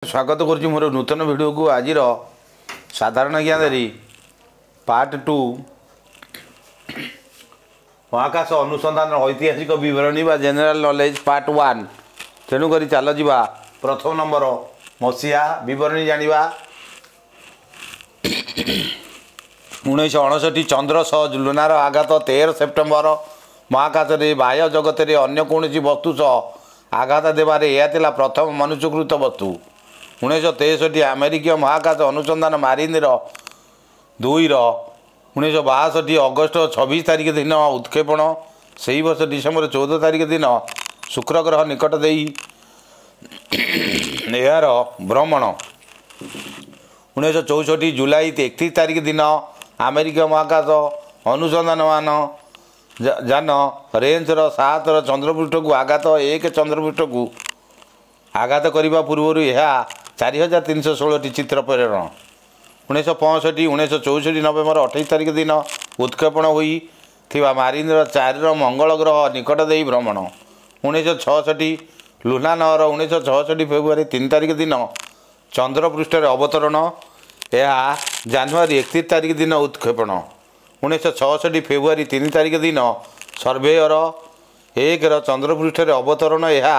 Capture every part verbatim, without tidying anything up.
ସ୍ୱାଗତ କରୁଛି ମୋର ନୂତନ ଭିଡ଼ିଓକୁ। ଆଜିର ସାଧାରଣ ଜ୍ଞାନରେ ପାର୍ଟ ଟୁ, ମହାକାଶ ଅନୁସନ୍ଧାନର ଐତିହାସିକ ବିବରଣୀ ବା ଜେନେରାଲ ନଲେଜ ପାର୍ଟ ୱାନ୍। ତେଣୁକରି ଚାଲ ଯିବା, ପ୍ରଥମ ନମ୍ବର ମସିହା ବିବରଣୀ ଜାଣିବା। ଉଣେଇଶହ ଅଣଷଠି ଚନ୍ଦ୍ର ସହ ଲୁନାର ଆଘାତ ତେର ସେପ୍ଟେମ୍ବର। ମହାକାଶରେ ବାହ୍ୟ ଜଗତରେ ଅନ୍ୟ କୌଣସି ବସ୍ତୁ ସହ ଆଘାତ ଦେବାରେ ଏହା ଥିଲା ପ୍ରଥମ ମନୁଷ୍ୟକୃତ ବସ୍ତୁ। ଉଣେଇଶହ ତେଷଠି ଆମେରିକୀୟ ମହାକାଶ ଅନୁସନ୍ଧାନ ମାରିନର ଦୁଇର ଉଣେଇଶହ ବାଷଠି ଅଗଷ୍ଟ ଛବିଶ ତାରିଖ ଦିନ ଉତ୍କ୍ଷେପଣ। ସେହି ବର୍ଷ ଡିସେମ୍ବର ଚଉଦ ତାରିଖ ଦିନ ଶୁକ୍ର ଗ୍ରହ ନିକଟ ଦେଇ ଏହାର ଭ୍ରମଣ। ଉଣେଇଶହ ଚଉଷଠି ଜୁଲାଇ ଏକତିରିଶ ତାରିଖ ଦିନ ଆମେରିକୀୟ ମହାକାଶ ଅନୁସନ୍ଧାନମାନ ଯାନ ରେଞ୍ଜର ସାତର ଚନ୍ଦ୍ରପୃଷ୍ଠକୁ ଆଘାତ। ଏକ ଚନ୍ଦ୍ରପୃଷ୍ଠକୁ ଆଘାତ କରିବା ପୂର୍ବରୁ ଏହା ଚାରି ହଜାର ତିନିଶହ ଷୋହଳଟି ଚିତ୍ର ପ୍ରେରଣ। ଉଣେଇଶହ ପଞ୍ଚଷଠି ଉଣେଇଶହ ଚଉଷଠି ନଭେମ୍ବର ଅଠେଇଶ ତାରିଖ ଦିନ ଉତ୍କ୍ଷେପଣ ହୋଇଥିବା ମାରିନର ଚାରିର ମଙ୍ଗଳ ଗ୍ରହ ନିକଟ ଦେଇ ଭ୍ରମଣ। ଉଣେଇଶହ ଛଅଷଠି ଲୁନା ନଅର ଉଣେଇଶହ ଛଅଷଠି ଫେବୃଆରୀ ତିନି ତାରିଖ ଦିନ ଚନ୍ଦ୍ରପୃଷ୍ଠରେ ଅବତରଣ। ଏହା ଜାନୁଆରୀ ଏକତିରିଶ ତାରିଖ ଦିନ ଉତ୍କ୍ଷେପଣ। ଉଣେଇଶହ ଛଅଷଠି ଫେବୃଆରୀ ତିନି ତାରିଖ ଦିନ ସର୍ଭେୟର ଏକର ଚନ୍ଦ୍ରପୃଷ୍ଠରେ ଅବତରଣ। ଏହା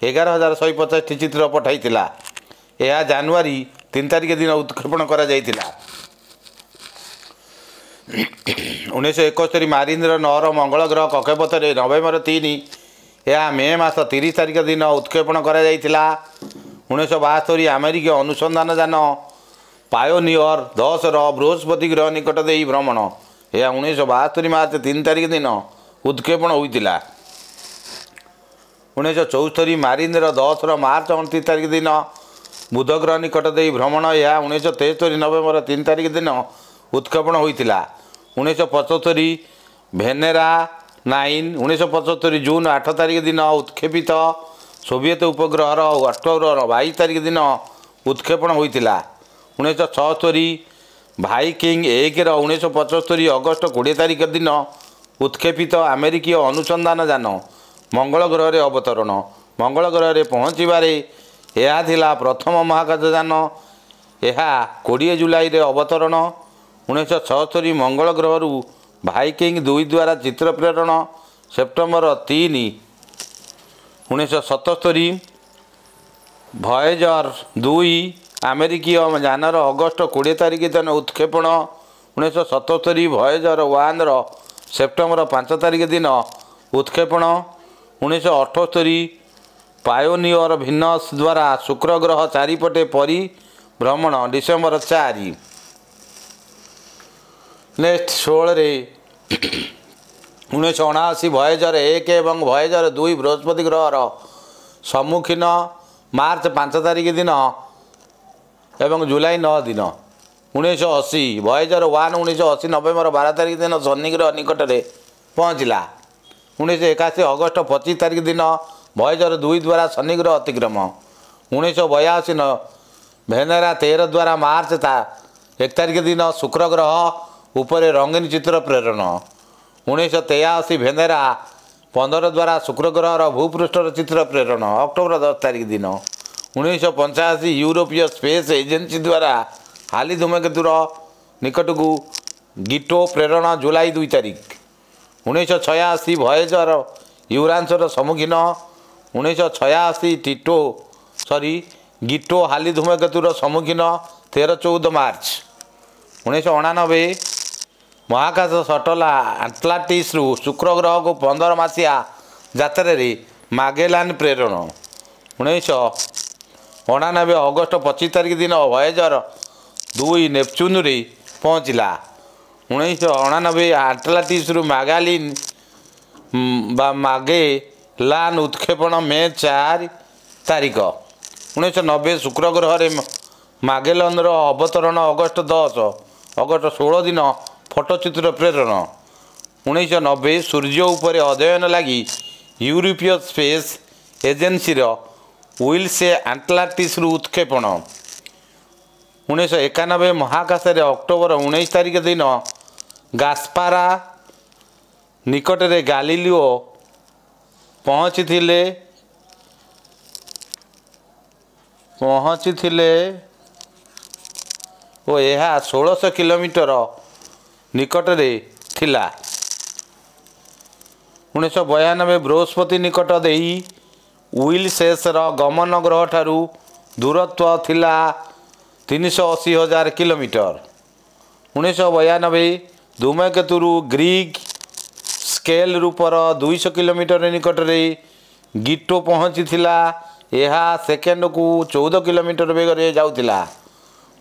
ଏଗାର ହଜାର ଶହେ ପଚାଶଟି ଚିତ୍ର ପଠାଇଥିଲା। ଏହା ଜାନୁଆରୀ ତିନି ତାରିଖ ଦିନ ଉତ୍କ୍ଷେପଣ କରାଯାଇଥିଲା। ଉଣେଇଶହ ଏକସ୍ତରୀ ମାରିନ୍ଦ୍ର ନଅର ମଙ୍ଗଳ ଗ୍ରହ କକ୍ଷପଥରେ ନଭେମ୍ବର ତିନି। ଏହା ମେ ମାସ ତିରିଶ ତାରିଖ ଦିନ ଉତ୍କ୍ଷେପଣ କରାଯାଇଥିଲା। ଉଣେଇଶହ ବାସ୍ତରି ଆମେରିକୀୟ ଅନୁସନ୍ଧାନ ଯାନ ପାୟୋନିୟର ଦଶର ବୃହସ୍ପତି ଗ୍ରହ ନିକଟ ଦେଇ ଭ୍ରମଣ। ଏହା ଉଣେଇଶହ ବାସ୍ତରି ମାର୍ଚ୍ଚ ତିନି ତାରିଖ ଦିନ ଉତ୍କ୍ଷେପଣ ହୋଇଥିଲା। ଉଣେଇଶହ ଚଉସ୍ତରୀ ମାରିନ୍ଦ୍ର ଦଶର ମାର୍ଚ୍ଚ ଅଣତିରିଶ ତାରିଖ ଦିନ ବୁଧ ଗ୍ରହ ନିକଟ ଦେଇ ଭ୍ରମଣ। ଏହା ଉଣେଇଶହ ତେସ୍ତରୀ ନଭେମ୍ବର ତିନି ତାରିଖ ଦିନ ଉତ୍କ୍ଷେପଣ ହୋଇଥିଲା। ଉଣେଇଶହ ପଞ୍ଚସ୍ତରୀ ଭେନେରା ନାଇନ୍ ଉଣେଇଶହ ପଞ୍ଚସ୍ତରୀ ଜୁନ୍ ଆଠ ତାରିଖ ଦିନ ଉତ୍କ୍ଷେପିତ ସୋଭିଏତ ଉପଗ୍ରହର ଅକ୍ଟୋବର ବାଇଶ ତାରିଖ ଦିନ ଉତ୍କ୍ଷେପଣ ହୋଇଥିଲା। ଉଣେଇଶହ ଛଅସ୍ତରୀ ଭାଇକିଙ୍ଗ ଏକର ଉଣେଇଶହ ପଞ୍ଚସ୍ତରୀ ଅଗଷ୍ଟ କୋଡ଼ିଏ ତାରିଖ ଦିନ ଉତ୍କ୍ଷେପିତ ଆମେରିକୀୟ ଅନୁସନ୍ଧାନ ଯାନ ମଙ୍ଗଳ ଗ୍ରହରେ ଅବତରଣ। ମଙ୍ଗଳ ଗ୍ରହରେ ପହଞ୍ଚିବାରେ ଏହା ଥିଲା ପ୍ରଥମ ମହାକାଶ ଯାନ। ଏହା କୋଡ଼ିଏ ଜୁଲାଇରେ ଅବତରଣ। ଉଣେଇଶହ ଛଅସ୍ତରୀ ମଙ୍ଗଳ ଗ୍ରହରୁ ଭାଇକିଙ୍ଗ ଦୁଇ ଦ୍ୱାରା ଚିତ୍ର ପ୍ରେରଣ ସେପ୍ଟେମ୍ବର ତିନି। ଉଣେଇଶହ ସତସ୍ତରୀ ଭଏଜର ଦୁଇ ଆମେରିକୀୟ ଯାନର ଅଗଷ୍ଟ କୋଡ଼ିଏ ତାରିଖ ଦିନ ଉତ୍କ୍ଷେପଣ। ଉଣେଇଶହ ସତସ୍ତରୀ ଭଏଜର ୱାନ୍ର ସେପ୍ଟେମ୍ବର ପାଞ୍ଚ ତାରିଖ ଦିନ ଉତ୍କ୍ଷେପଣ। ଉଣେଇଶହ ଅଠସ୍ତରୀ ପାୟୋନିୟର ଭିନସ୍ ଦ୍ୱାରା ଶୁକ୍ର ଗ୍ରହ ଚାରିପଟେ ପରିଭ୍ରମଣ ଡିସେମ୍ବର ଚାରି। ନେକ୍ସଟ ଷୋହଳରେ ଉଣେଇଶହ ଅଣାଅଶୀ ଭଏଜର ଏକ ଏବଂ ଭଏଜର ଦୁଇ ବୃହସ୍ପତି ଗ୍ରହର ସମ୍ମୁଖୀନ ମାର୍ଚ୍ଚ ପାଞ୍ଚ ତାରିଖ ଦିନ ଏବଂ ଜୁଲାଇ ନଅ ଦିନ। ଉଣେଇଶହ ଅଶୀ ଭଏଜର ୱାନ୍ ଉଣେଇଶହ ଅଶୀ ନଭେମ୍ବର ବାର ତାରିଖ ଦିନ ଶନି ଗ୍ରହ ନିକଟରେ ପହଞ୍ଚିଲା। ଉଣେଇଶହ ଏକାଅଶୀ ଅଗଷ୍ଟ ପଚିଶ ତାରିଖ ଦିନ ଭଏଜର ଦୁଇ ଦ୍ୱାରା ଶନି ଗ୍ରହ ଅତିକ୍ରମ। ଉଣେଇଶହ ବୟାଅଶୀ ଭେନେରା ତେର ଦ୍ୱାରା ମାର୍ଚ୍ଚ ତା ଏକ ତାରିଖ ଦିନ ଶୁକ୍ର ଗ୍ରହ ଉପରେ ରଙ୍ଗୀନ ଚିତ୍ର ପ୍ରେରଣ। ଉଣେଇଶହ ତେୟାଅଶୀ ଭେନେରା ପନ୍ଦର ଦ୍ୱାରା ଶୁକ୍ର ଗ୍ରହର ଭୂପୃଷ୍ଠର ଚିତ୍ର ପ୍ରେରଣ ଅକ୍ଟୋବର ଦଶ ତାରିଖ ଦିନ। ଉଣେଇଶହ ପଞ୍ଚାଅଶୀ ୟୁରୋପୀୟ ସ୍ପେସ୍ ଏଜେନ୍ସି ଦ୍ୱାରା ହାଲି ଧୂମକେତୁର ନିକଟକୁ ଗିଟୋ ପ୍ରେରଣ ଜୁଲାଇ ଦୁଇ ତାରିଖ। ଉଣେଇଶହ ଛୟାଅଶୀ ଭଏଜର ୟୁରାନ୍ସର ସମ୍ମୁଖୀନ। ଉଣେଇଶହ ଛୟାଅଶୀ ଟିଟୋ ସରି ଗିଟୋ ହାଲି ଧୂମକେତୁର ସମ୍ମୁଖୀନ ତେର ଚଉଦ ମାର୍ଚ୍ଚ। ଉଣେଇଶହ ଅଣାନବେ ମହାକାଶ ସଟଲ ଆଟଲାଣ୍ଟିସ୍ରୁ ଶୁକ୍ର ଗ୍ରହକୁ ପନ୍ଦର ମାସିଆ ଯାତ୍ରାରେ ମାଗେଲାନ୍ ପ୍ରେରଣ। ଉଣେଇଶହ ଅଣାନବେ ଅଗଷ୍ଟ ପଚିଶ ତାରିଖ ଦିନ ଭଏଜର ଦୁଇ ନେପଚୁନରେ ପହଞ୍ଚିଲା। ଉଣେଇଶହ ଅଣାନବେ ଆଟଲାଣ୍ଟିସ୍ରୁ ମାଗାଲିନ୍ ବା ମାଗେଲାନ୍ ଉତ୍କ୍ଷେପଣ ମେ ଚାରି ତାରିଖ। ଉଣେଇଶହ ନବେ ଶୁକ୍ର ଗ୍ରହରେ ମାଗେଲନ୍ର ଅବତରଣ ଅଗଷ୍ଟ ଦଶ, ଅଗଷ୍ଟ ଷୋହଳ ଦିନ ଫଟୋଚିତ୍ର ପ୍ରେରଣ। ଉଣେଇଶହ ନବେ ସୂର୍ଯ୍ୟ ଉପରେ ଅଧ୍ୟୟନ ଲାଗି ୟୁରୋପୀୟ ସ୍ପେସ୍ ଏଜେନ୍ସିର ୱିଲ୍ସେ ଆଟଲାଣ୍ଟିସ୍ରୁ ଉତ୍କ୍ଷେପଣ। ଉଣେଇଶହ ଏକାନବେ ମହାକାଶରେ ଅକ୍ଟୋବର ଉଣେଇଶ ତାରିଖ ଦିନ ଗାସ୍ପାରା ନିକଟରେ ଗାଲିଲିଓ ପହଞ୍ଚିଥିଲେ। ପହଞ୍ଚିଥିଲେ ଓ ଏହା ଷୋଳଶହ କିଲୋମିଟର ନିକଟରେ ଥିଲା। ଉଣେଇଶହ ବୟାନବେ ବୃହସ୍ପତି ନିକଟ ଦେଇ ୱିଲସେସ୍ର ଗମନ ଗ୍ରହଠାରୁ ଦୂରତ୍ୱ ଥିଲା ତିନିଶହ ଅଶୀ ହଜାର କିଲୋମିଟର। ଉଣେଇଶହ ବୟାନବେ ଧୂମକେତୁରୁ ଗ୍ରୀକ୍ ସ୍କେଲ୍ ରୂପର ଦୁଇଶହ କିଲୋମିଟର ନିକଟରେ ଗିଟୋ ପହଞ୍ଚିଥିଲା। ଏହା ସେକେଣ୍ଡକୁ ଚଉଦ କିଲୋମିଟର ବେଗରେ ଯାଉଥିଲା।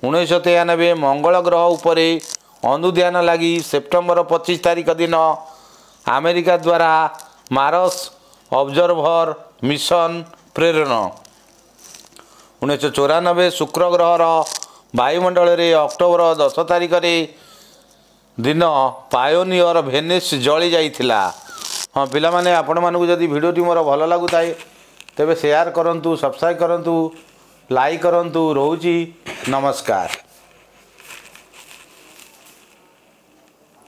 ଉଣେଇଶହ ତେୟାନବେ ମଙ୍ଗଳ ଗ୍ରହ ଉପରେ ଅନୁଧ୍ୟାନ ଲାଗି ସେପ୍ଟେମ୍ବର ପଚିଶ ତାରିଖ ଦିନ ଆମେରିକା ଦ୍ୱାରା ମାରସ୍ ଅବଜର୍ଭର ମିଶନ ପ୍ରେରଣ। ଉଣେଇଶହ ଚଉରାନବେ ଶୁକ୍ର ଗ୍ରହର ବାୟୁମଣ୍ଡଳରେ ଅକ୍ଟୋବର ଦଶ ତାରିଖରେ ଦିନ ପାୟୋନିୟର ଭେନିସ୍ ଜଳି ଯାଇଥିଲା। ହଁ ପିଲାମାନେ, ଆପଣମାନଙ୍କୁ ଯଦି ଭିଡ଼ିଓଟି ମୋର ଭଲ ଲାଗୁଥାଏ ତେବେ ସେୟାର କରନ୍ତୁ, ସବସ୍କ୍ରାଇବ୍ କରନ୍ତୁ, ଲାଇକ୍ କରନ୍ତୁ। ରହୁଛି, ନମସ୍କାର।